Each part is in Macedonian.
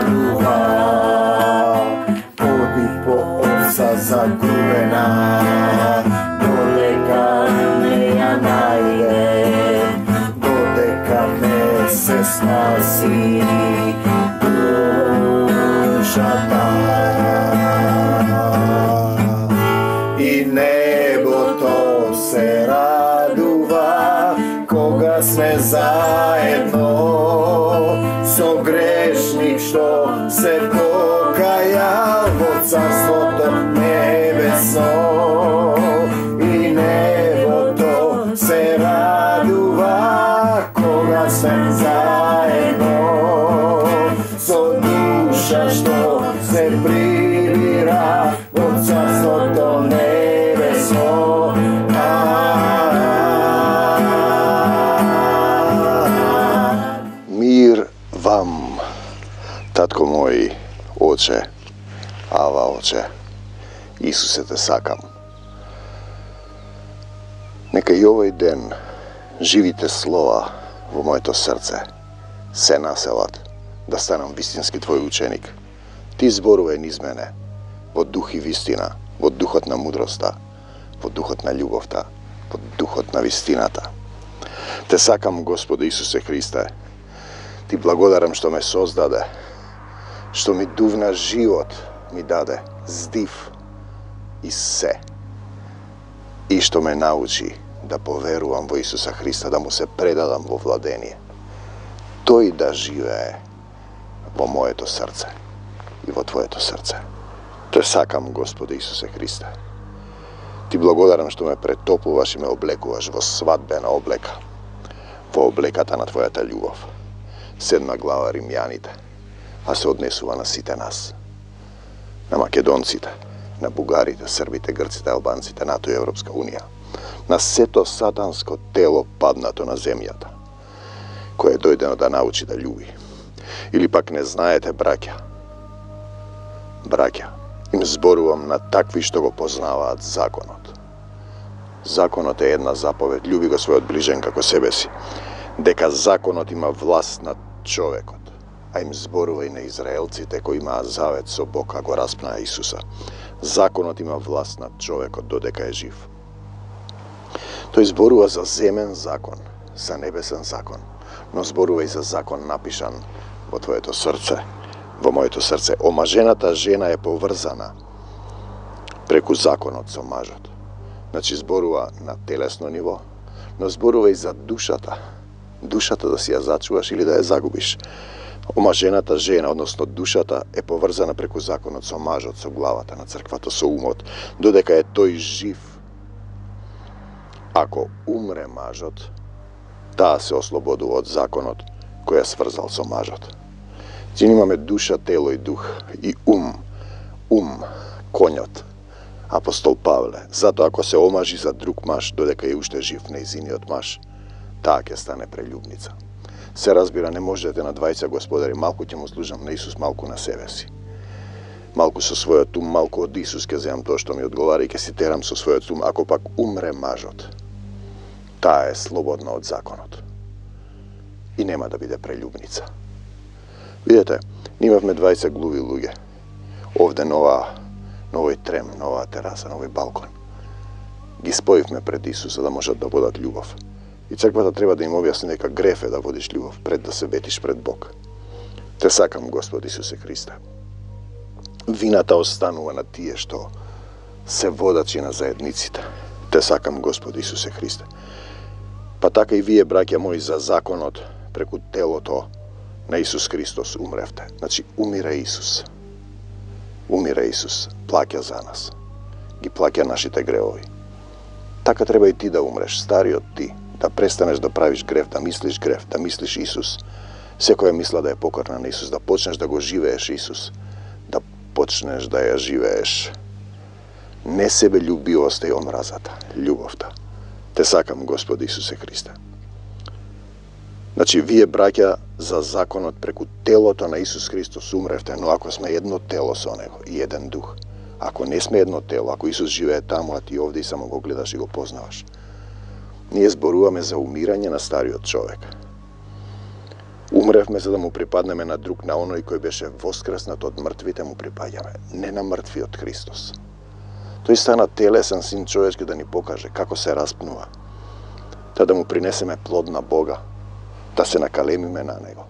радува, оди по овца загубена, додека не ја најде, додека не се спаси душата. И небото се радува кога сме заедно со грешник што се покаја во царството небесно. И небото се радува кога сме заедно со душа што се прибира во царството небесно. Мир вам, татко мој, оче, ава оче, Исусе те сакам. Нека и овој ден живите слова во моето срце се населат да станам вистински твој ученик. Ти зборувај низ мене во дух и вистина, во духот на мудроста, во духот на љубовта, во духот на вистината. Те сакам, Господи Исусе Христе. Ти благодарам што ме создаде, што ми дувна живот ми даде, здив и се. И што ме научи да поверувам во Исуса Христа, да му се предадам во владение. Тој да живее во моето срце и во Твоето срце. Те сакам, Господи Исусе Христе. Ти благодарам што ме претоплуваш и ме облекуваш во свадбена облека, во облеката на Твојата љубов. 7 глава Римјаните, а се однесува на сите нас. На македонците, на бугарите, србите, грците, албанците, НАТО и Европска Унија. На сето сатанско тело паднато на земјата, кое е дојдено да научи да љуби. Или пак не знаете, браќа, им зборувам на такви што го познаваат законот. Законот е една заповед, љуби го својот ближен како себе си. Дека законот има власт над човекот, а им зборува и на израелците кои имаат завет со Бог, а го распнаа Исуса. Законот има власт над човекот додека е жив. Тој зборува за земен закон, за небесен закон, но зборува и за закон напишан во твоето срце, во моето срце. Омажената жена е поврзана преку законот со мажот. Значи зборува на телесно ниво, но зборува и за душата. Душата да си ја зачуваш или да ја загубиш. Омажената жена, односно душата, е поврзана преку законот со мажот, со главата на црквата, со умот, додека е тој жив. Ако умре мажот, таа се ослободува од законот кој е сврзал со мажот. Ти имаме душа, тело и дух, и ум, конјот, апостол Павле. Зато ако се омажи за друг маж, додека е уште жив нејзиниот маж, таа ќе стане прелюбница. Се разбира, не можете на двајца господари, малку ќе му служам на Исус, малку на себе си. Малку со својот ум, малку од Исус ќе земам тоа што ми одговара и ќе си терам со својот ум. Ако пак умре мажот, таа е слободна од законот и нема да биде прелюбница. Видете, имавме 20 глуви луѓе. Овде на овој трем, на оваа тераса, на овој балкон. Ги споивме пред Исус за да можат да водат љубов. И црквата треба да им објасни дека греф е да водиш љубов пред да се ветиш пред Бог. Те сакам, Господи Исусе Христе. Вината останува на тие што се водачи на заедниците. Те сакам, Господи Исусе Христе. Па така и вие, браќа мои, за законот преку телото на Исус Христос умревте. Значи, умира Исус. Умира Исус. Плаќа за нас. Ги плаќа нашите гревови. Така треба и ти да умреш, стариот ти. Да престанеш да правиш грев, да мислиш Исус. Секоја мисла да е покорна на Исус, да почнеш да го живееш Исус. Да почнеш да ја живееш. Не себе љубивоста и омразата, љубовта. Те сакам, Господи Исусе Христе. Значи, вие, браќа, за законот преку телото на Исус Христос умревте, но ако сме едно тело со Него и еден дух, ако не сме едно тело, ако Исус живее таму, а ти овде и само го гледаш и го познаваш, ние зборуваме за умирање на стариот човек. Умревме за да му припаднеме на друг, на оној кој беше воскреснат од мртвите му припаѓаме, не на мртвиот Христос. Тој стана телесен син човечки да ни покаже како се распнува, да му принесеме плод на Бога, да се накалемиме на Него,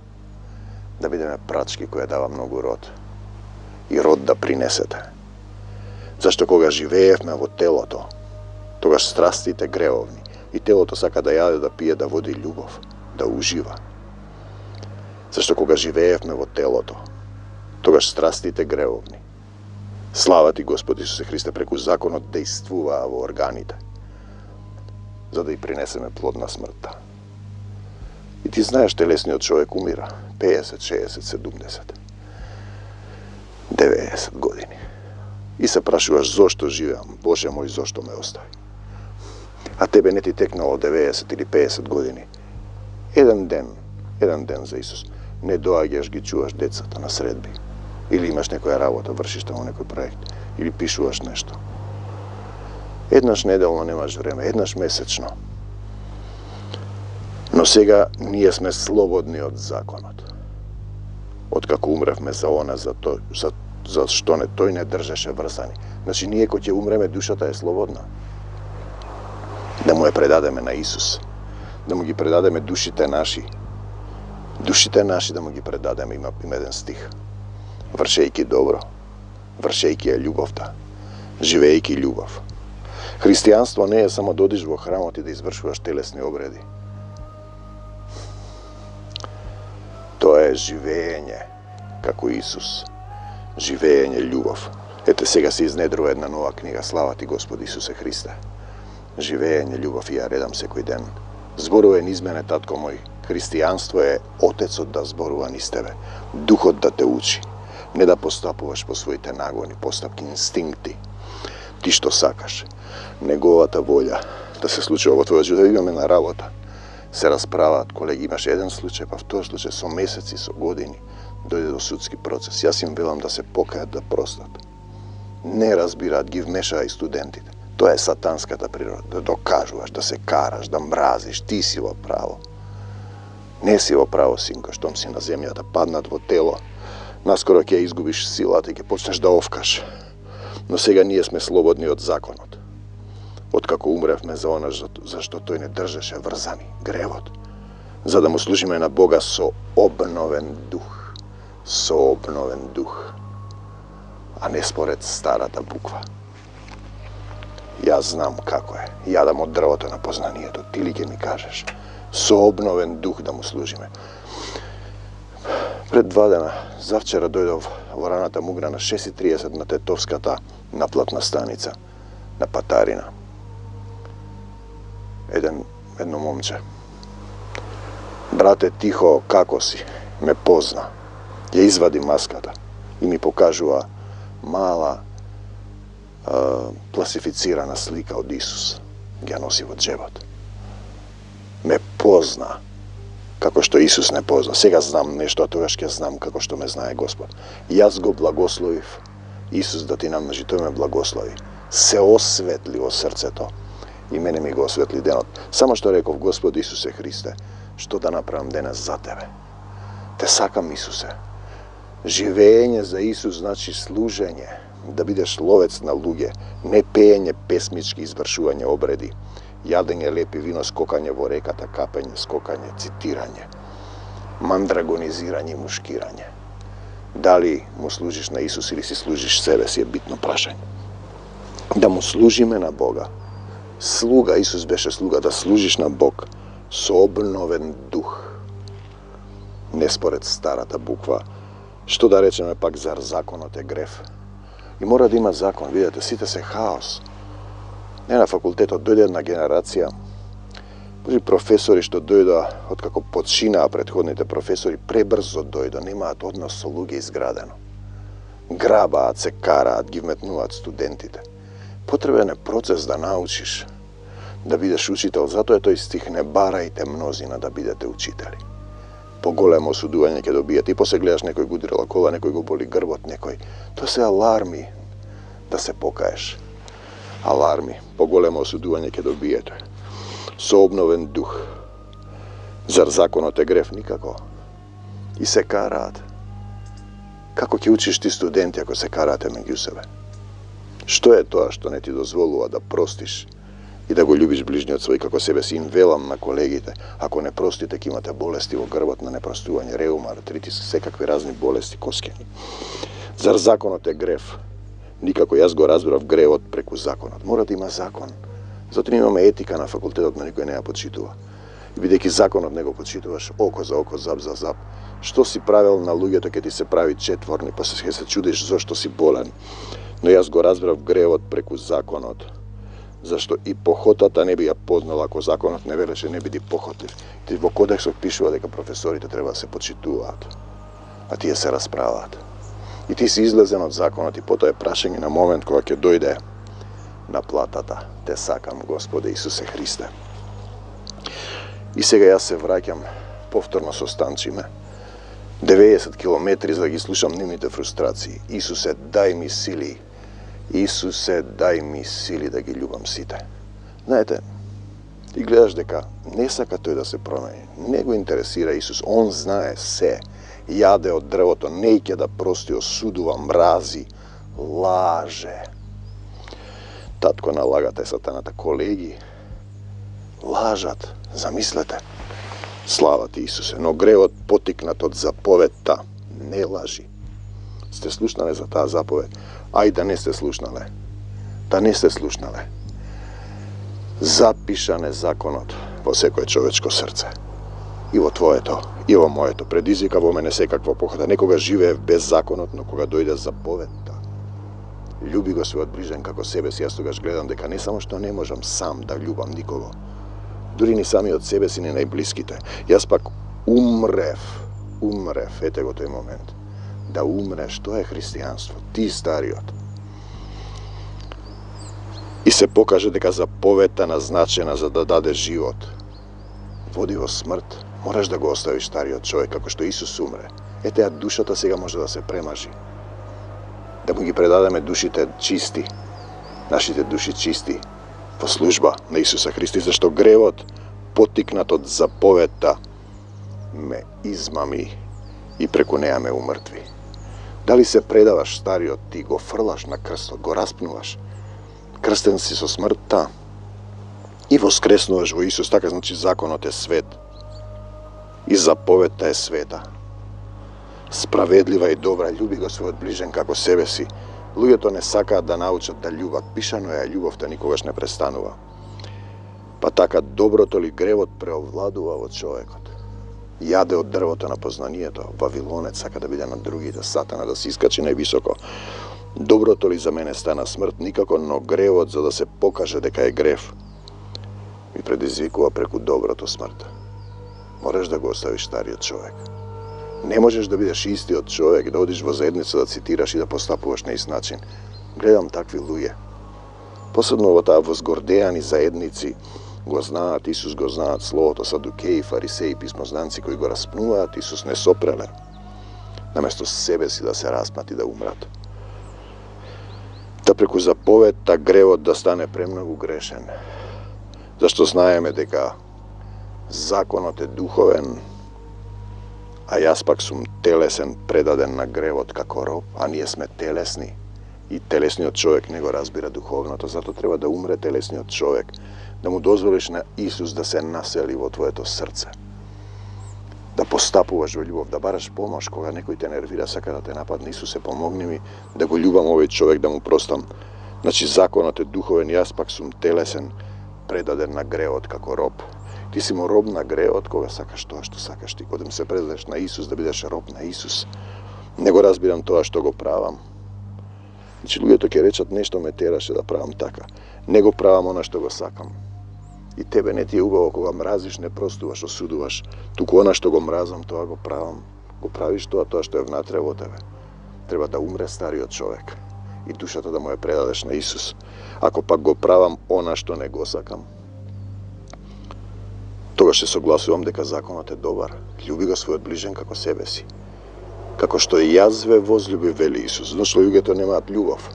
да бидеме прачки која дава многу род и род да принесете. Зашто кога живеевме во телото, тогаш страстите гревовни и телото сака да јаде, да пие, да води љубов, да ужива. Зашто кога живеевме во телото, тогаш страстите гревовни. Слава ти, Господ Исусе Христе, преку законот дејствуваа во органите, за да и принесеме плод на смртта. И ти знаеш, телесниот човек умира 50, 60, 70, 90 години. И се прашуваш зошто живеам, Боже мој, зошто ме остави? А тебе не ти текнало 90 или 50 години. Еден ден за Исус. Не доаѓаш, ги чуваш децата на средби. Или имаш некоја работа, вршиш таму некој проект. Или пишуваш нешто. Еднаш неделно немаш време, еднаш месечно. Но сега ние сме слободни од законот. Откако умревме за она, за што тој не држеше врзани. Значи, ние кој ќе умреме, душата е слободна. Да му ја предадеме на Исус. Да му ги предадеме душите наши. Душите наши да му ги предадеме, има еден стих. Вршејки добро, вршејки ја љубовта, живејки љубов. Христијанство не е само да одиш во храмот и да извршуваш телесни обреди. Тоа е живење како Исус. Живење љубов. Ете, сега се изнедрува една нова книга. Слава ти, Господ Исусе Христе. Живење љубов и ја редам секој ден. Зборува низ мене, татко мој. Христијанство е Отецот да зборува низ тебе. Духот да те учи. Не да постапуваш по своите нагони, постапки, инстинкти. Ти што сакаш. Неговата волја да се случува во твојот живот. Имаме на работа. Се расправаат колеги. Имаш еден случај, па втор случај со месеци, со години. Дојде до судски процес. Јас им велам да се покајат, да простат. Не разбираат, ги вмешаа и студентите. Тоа е сатанската природа. Да докажуваш, да се караш, да мразиш. Ти си во право. Не си во право, синко, штом си на земјата, паднат во тело. Наскоро ќе изгубиш силата и ќе почнеш да овкаш. Но сега ние сме слободни од законот. Откако умревме за она, зашто тој не држеше врзани, гревот. За да му служиме на Бога со обновен дух. Со обновен дух. А не според старата буква. Јас знам како е. Јадам од дрвото на познанието. Ти ли ќе ми кажеш? Со обновен дух да му служиме. Пред 2 дена, завчера дојдов во раната Мугра на 6:30 на Тетовската наплатна станица на Патарина. Едно момче. Брате, тихо, како си? Ме позна. Ја извади маската и ми покажува мала пласифицирана слика од Исус. Ја носи во джебот. Ме позна. Како што Исус не позна. Сега знам нешто, а тогаш ќе знам како што ме знае Господ. Јас го благословив. Исус да ти намножи, тој ме благослови. Се осветли во срцето. И мене ми го осветли денот. Само што реков, Господ Исусе Христе, што да направам денес за тебе? Те сакам, Исусе. Живење за Исус значи служење, да бидеш ловец на луѓе, не пеење песмички, извршување обреди, јадење лепи вино, скокање во реката, капење, скокање, цитирање, мандрагонизирање и мушкирање. Дали му служиш на Исус или си служиш себе си е битно прашање. Да му служиме на Бога. Слуга, Исус беше слуга, да служиш на Бог со обновен дух. Не според старата буква. Што да речеме пак зар законот е греф? И мора да има закон, видете, сите се хаос. Не на факултетот дојде една генерација, професори што дојдоа, откако починаа претходните професори, пребрзо дојдоа, немаат однос со луѓе изградено. Грабаат, се караат, ги вметнуваат студентите. Потребен е процес да научиш, да бидеш учител, затоа е тој стих, не барајте мнозина да бидете учители. Поголемо осудување ќе добиете и после гледаш некој го удрила кола, некој го боли грбот, некој. Тоа се аларми да се покаеш. Аларми, поголемо осудување ќе добиете. Со обновен дух. Зар законот е греф? Никако. и се караат. Како ќе учиш ти студенти ако се карате меѓу себе? Што е тоа што не ти дозволува да простиш и да го љубиш ближниот свој како себе си? Им велам на колегите, ако не простите, ќе имате болести во грбот на непростување, реума, артритис, секакви разни болести коскени. Зар законот е грев? Никако, јас го разбрав гревот преку законот. Мора да има закон. Затоа имаме етика на факултетот, но никој не ја почитува. И бидејќи законот не го почитуваш, око за око, зап за зап, што си правил на луѓето ќе ти се прави четворни, па ќе се чудиш зошто си болен. Но јас го разбрав гревот преку законот, зашто и похотата не би ја познала ако законот не велеше не биди похотлив. Ти во кодексот пишува дека професорите треба да се почитуваат, а тие се расправаат. И ти си излезен од законот и потоа е прашање на момент кога ќе дојде на платата. Те сакам, Господе Исусе Христе. И сега јас се враќам повторно со Станчиме. 90 километри за да ги слушам нивните фрустрации. Исусе, дај ми сили. Исусе, дај ми сили да ги љубам сите. Знаете, ти гледаш дека не сака тој да се промени. Не го интересира Исус. Он знае се. Јаде од дрвото, не ќе да прости, осудува, мрази, лаже. Татко на лагата е сатаната. Колеги, лажат. Замислете. Слава ти, Исусе, но гревот потикнат од заповедта не лажи. Сте слушнале за таа заповед? Ај да не сте слушнале. Да не сте слушнале. Запишан е законот во секое човечко срце. И во твоето, и во моето. Предизвика во мене секаква похота. Некога живеев без законот, но кога дојде заповедта, љуби го својот ближен како себе си. Јас тогаш гледам дека не само што не можам сам да љубам никого, дури ни сами од себе си, ни најблиските. Јас пак умрев, ете го тој момент. Да умреш, тоа е христијанство, ти стариот. И се покаже дека заповедта назначена за да даде живот води во смрт. Мораш да го оставиш стариот човек, како што Исус умре. Ете, а душата сега може да се премажи. Да му ги предадеме душите чисти, нашите души чисти, во служба на Исуса Христа, зашто гревот, потикнат од заповедта, ме измами и преку неа ме умртви. Дали се предаваш стариот ти, го фрлаш на крстот, го распнуваш, крстен си со смртта и воскреснуваш во Исус, така значи законот е свет и заповедта е света. Справедлива и добра, љуби го својот ближен како себе си. Луѓето не сакаат да научат да љубат. Пишано е, љубовта никогаш не престанува. Па така доброто ли гревот преовладува во човекот. Јаде од дрвото на познанието. Вавилонец сака да биде на другите, сатана да се искачи највисоко. Доброто ли за мене стана смрт? Никако, но гревот за да се покаже дека е грев ми предизвикува преку доброто смрт. Мораш да го оставиш стариот човек. Не можеш да бидеш истиот човек, да одиш во заедница да цитираш и да постапуваш на ист начин. Гледам такви луѓе. Посебно во таа возгордеани заедници го знаат Исус, го знаат Словото, садукеи, фарисеи, писмознанци кои го распнуваат Исус не сопреле. Наместо себе си да се распнат и да умрат. Да преку заповедта гревот да стане премногу грешен. Зашто знаеме дека законот е духовен, а јас пак сум телесен, предаден на гревот како роб, а ние сме телесни. И телесниот човек не го разбира духовното, зато треба да умре телесниот човек, да му дозволиш на Исус да се насели во твоето срце. Да постапуваш во љубов, да бараш помош кога некој те нервира, сака да те нападне. Исусе, помогни ми да го љубам овој човек, да му простам. Значи законот е духовен, јас пак сум телесен, предаден на гревот како роб. Ти си му роб на гревот кога сакаш тоа што сакаш ти. Кога се предадеш на Исус, да бидеш роб на Исус. Не го разбирам тоа што го правам. Значи луѓето ќе речат нешто ме тераше да правам така. Не го правам она што го сакам. И тебе не ти е убаво кога мразиш, не простуваш, осудуваш. Туку она што го мразам, тоа го правам. Го правиш тоа што е внатре во тебе. Треба да умре стариот човек и душата да му ја предадеш на Исус. Ако пак го правам она што не го сакам, тогаш се согласувам дека законот е добар. Љуби го својот ближен како себе си. Како што и јас ве возлюби, вели Исус. Зашто луѓето немаат љубов.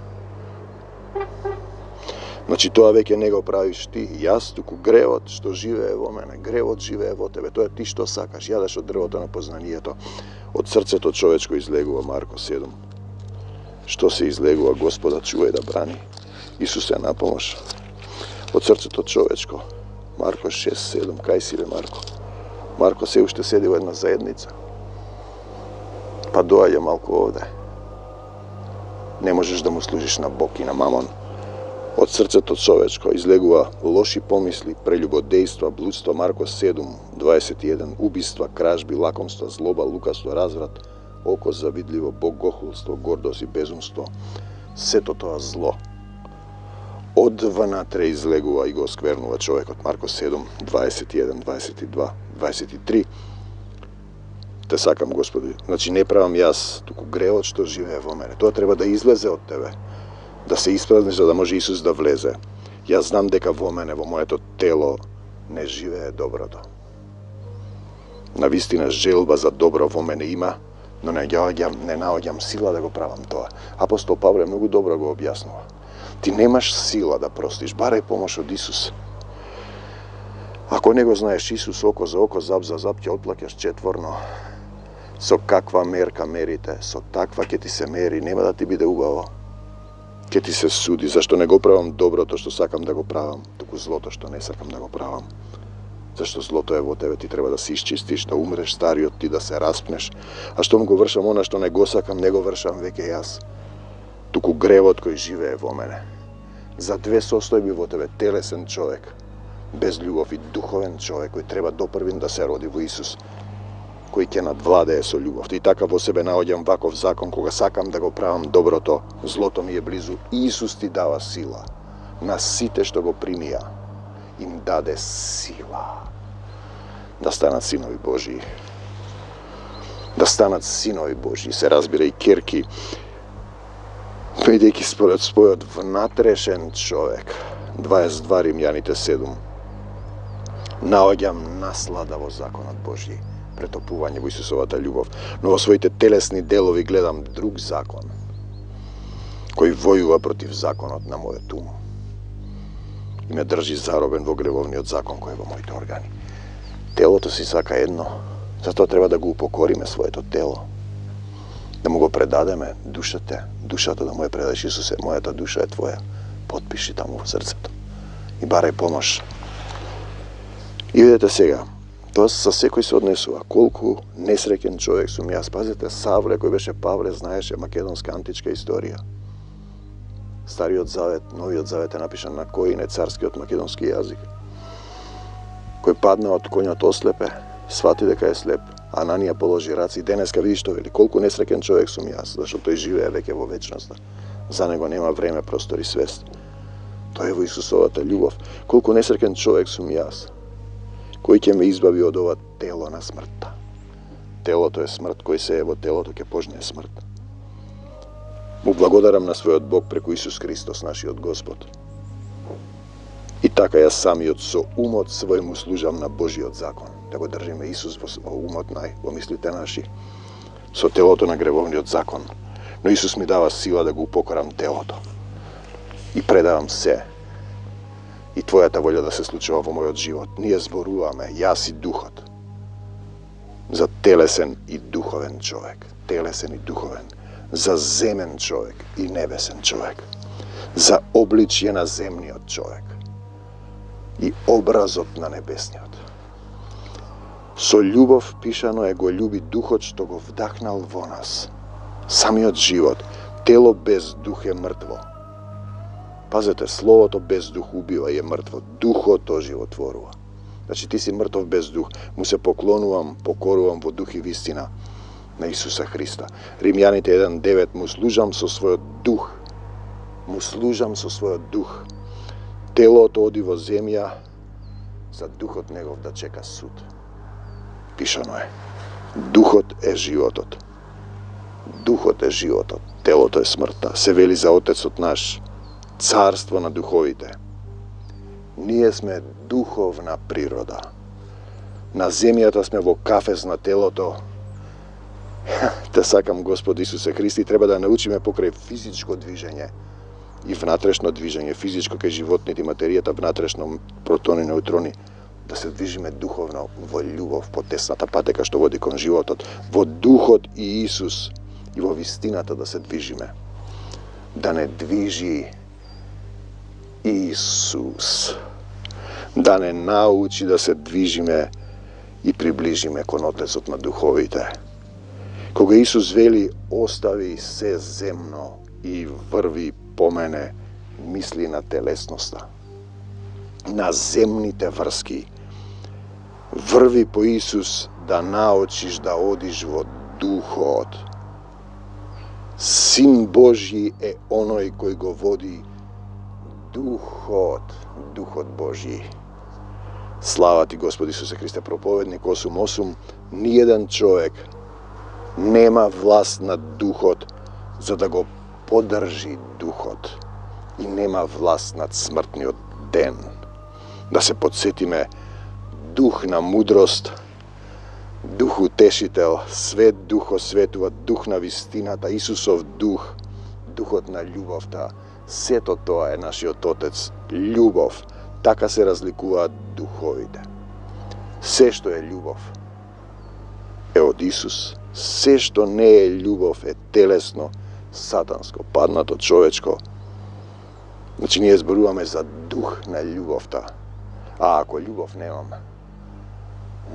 Значи тоа веќе не го правиш ти, јас, туку гревот што живее во мене, гревот живее во тебе, тоа ти што сакаш, јадеш од дрвото на познанието, од срцето човечко излегува, Марко 7. Што се излегува, Господа чувај да брани, Исус е на помош. Од срцето човечко, Марко 6-7, кај си бе Марко? Марко се уште седи во една заедница, па доаѓа малку овде. Не можеш да му служиш на Бог и на мамон. Од срцето човечко излегува лоши помисли, прелюбодејства, блудство, Марко 7:21, убиства, кражби, лакомства, злоба, лукавство, разврат, око завидливо, богохулство, гордост и безумство. Сето тоа зло од внатре излегува и го осквернува човекот. Марко 7:21, 22, 23. Те сакам, Господи. Значи не правам јас, туку гревот што живее во мене. Тоа треба да излезе од тебе. Да се испразниш за да може Исус да влезе. Јас знам дека во мене, во моето тело, не живее доброто. Навистина желба за добро во мене има, но не наоѓам сила да го правам тоа. Апостол Павле многу добро го објаснува. Ти немаш сила да простиш, барај помош од Исус. Ако не го знаеш Исус, око за око, зап за зап, ќе отплаќаш четворно. Со каква мерка мерите, со таква ќе ти се мери, нема да ти биде убаво. Ќе ти се суди, зашто не го правам доброто што сакам да го правам, туку злото што не сакам да го правам. Зашто злото е во тебе, ти треба да се исчистиш, да умреш стариот ти, да се распнеш. А штом го вршам она што не го сакам, не го вршам веќе јас. Туку гревот кој живее во мене. За две состојби во тебе, телесен човек, без љубов, и духовен човек кој треба допрвин да се роди во Исус, кој ќе надвладее со љубов. И така во себе наоѓам ваков закон, кога сакам да го правам доброто, злото ми е близу. Исус ти дава сила. На сите што го примија, им даде сила да станат синови Божии. Да станат синови Божии, се разбира и керки, бидејќи според својот внатрешен човек. 22 Римјаните 7. Наоѓам наслада во законот Божји, претопување во Исусовата љубов, но во своите телесни делови гледам друг закон, кој војува против законот на мојот ум и ме држи заробен во гревовниот закон кој е во моите органи. Телото си сака едно, затоа треба да го упокориме своето тело, да му го предадеме душата да му ја предадеш. Исусе, мојата душа е твоја, потпиши таму во срцето и барај помош. И видете сега, тоа со секој се однесува. Колку несреќен човек сум јас. Пазете, Савле, кој беше Павле, знаеше македонска античка историја. Стариот завет, новиот завет е напишан на кој не царскиот македонски јазик. Кој падна од коњот ослепе, свати дека е слеп. Ананија положи раци, денеска види што вели, колку несреќен човек сум јас, зашто тој живее веќе во вечноста. За него нема време, простор и свест. Тој е во Исусовата љубов. Колку несреќен човек сум јас, кој ќе ме избави од ова тело на смртта. Телото е смрт, кој се е во телото ќе пожне смрт. Му благодарам на својот Бог преку Исус Христос, нашиот Господ. И така јас самиот со умот свој му служам на Божиот закон. Да го држиме Исус во умот нај, во мислите наши, со телото на гревовниот закон. Но Исус ми дава сила да го упокорам телото. И предавам се. И Твојата волја да се случува во мојот живот. Ние зборуваме, јас и духот, за телесен и духовен човек. Телесен и духовен. За земен човек и небесен човек. За обличје на земниот човек и образот на небесниот. Со љубов пишано е го љуби духот што го вдахнал во нас. Самиот живот, тело без дух е мртво. Пазете, словото без дух убива и е мртво. Духот оживотворува. Значи ти си мртов без дух. Му се поклонувам, покорувам во дух и вистина на Исуса Христа. Римјаните 1:9, му служам со својот дух. Му служам со својот дух. Телото оди во земја, за духот негов да чека суд. Пишано е. Духот е животот. Духот е животот. Телото е смртта. Се вели за Отецот наш. Царство на духовите. Ние сме духовна природа. На земјата сме во кафез на телото. Те сакам, Господ Исусе Христи, треба да научиме покрај физичко движење и внатрешно движење, физичко кај животните и материјата, внатрешно протони, неутрони, да се движиме духовно во љубов по тесната патека што води кон животот, во духот и Исус и во вистината да се движиме. Да не движи Исус, да не научи да се движиме и приближиме кон Отецот на духовите. Кога Исус вели остави се земно и врви по мене, мисли на телесноста, на земните врски. Врви по Исус да научиш да одиш во духот. Син Божји е оној кој го води духот, духот Божји. Слава ти, Господи Исусе Христе, проповедник 8.8, ниеден човек нема власт над духот за да го подржи духот и нема власт над смртниот ден. Да се подсетиме, дух на мудрост, дух утешител, свет дух осветува, дух на вистината, Исусов дух, духот на љубовта. Сето тоа е нашиот Отец, љубов. Така се разликуваат духовите. Се што е љубов е од Исус, се што не е љубов е телесно, сатанско, паднато, човечко. Значи ние зборуваме за дух на љубовта. А ако љубов немам,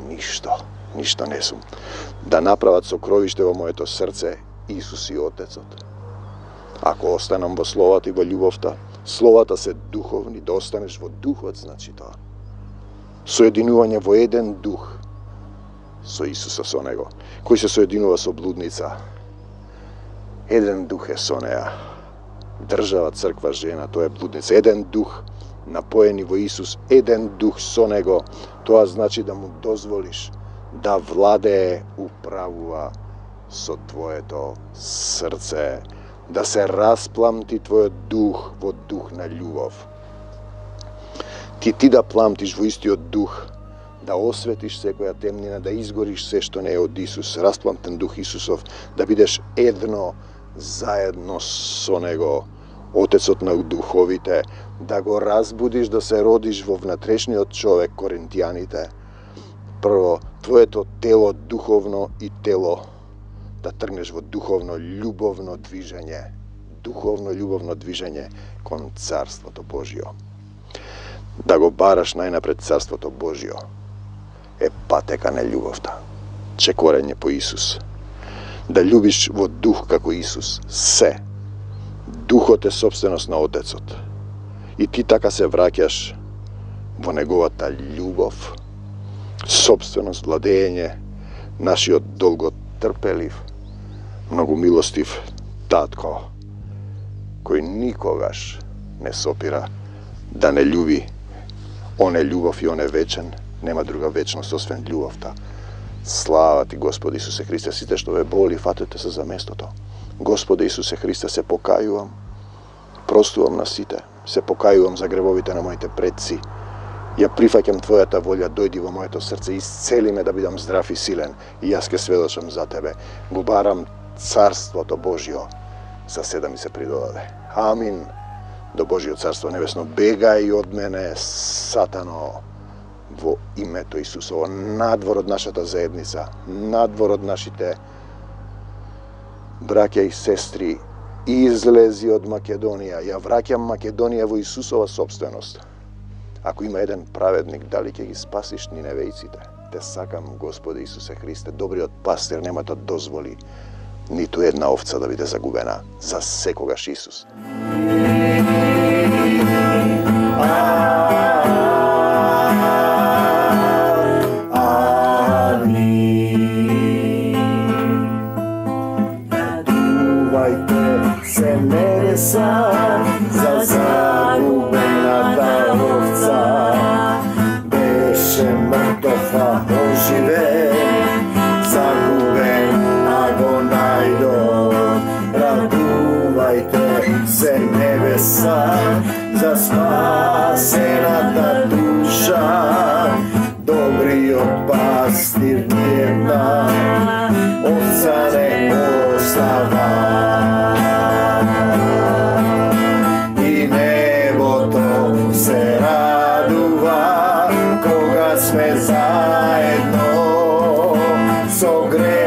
ништо не сум. Да направат сокровиште во моето срце Исус и Отецот. Ако останам во словата и во љубовта, словата се духовни, да останеш во духот, значи тоа. Соединување во еден дух со Исуса, со Него. Кој се соединува со блудница, еден дух е со неа. Држава, црква, жена, тоа е блудница. Еден дух напоени во Исус, еден дух со Него. Тоа значи да му дозволиш да владее, управува со твоето срце, да се распламти твојот дух во дух на љубов. Ти да пламтиш во истиот дух, да осветиш секоја темнина, да изгориш се што не е од Исус, распламтен дух Исусов, да бидеш едно заедно со Него, Отецот на духовите, да го разбудиш, да се родиш во внатрешниот човек, Коринтијаните. Прво, твоето тело духовно и тело, да тргнеш во духовно љубовно движење кон Царството Божјо. Да го бараш најнапред Царството Божјо е патека на љубовта, чекорење по Исус. Да љубиш во дух како Исус се. Духот е собственост на Отецот. И ти така се враќаш во неговата љубов, собственост, владење, нашиот долготрпелив, многу милостив татко, кој никогаш не сопира да не љуби. Он е љубов и он е вечен, нема друга вечност освен љубовта. Слава ти, Господи Исусе Христе, сите што ве боли, фатете се за местото. Господи Исусе Христе, се покајувам, простувам на сите, се покајувам за гревовите на моите предци. Ја прифаќам Твојата волја, дојди во моето срце, исцели ме да бидам здрав и силен, и јас ке сведочам за Тебе. Го барам Царството Божјо, за се да ми се придодаде. Амин. До Божјо Царство Небесно, бегај од мене, Сатано, во името Исусово, надвор од нашата заедница, надвор од нашите браќа и сестри, излези од Македонија. Ја враќам Македонија во Исусова собственост. Ако има еден праведник, дали ќе ги спасиш ниневејците? Те сакам, Господи Исусе Христе, добриот пастир нема да дозволи ниту една овца да биде загубена. За секогаш Исус. Се небеса за загубената овца, беше мртов, а оживен, загубен, а го најдов. Радувајте се небеса за спасената душа, добриот пастир ниедна овца не остава. со грех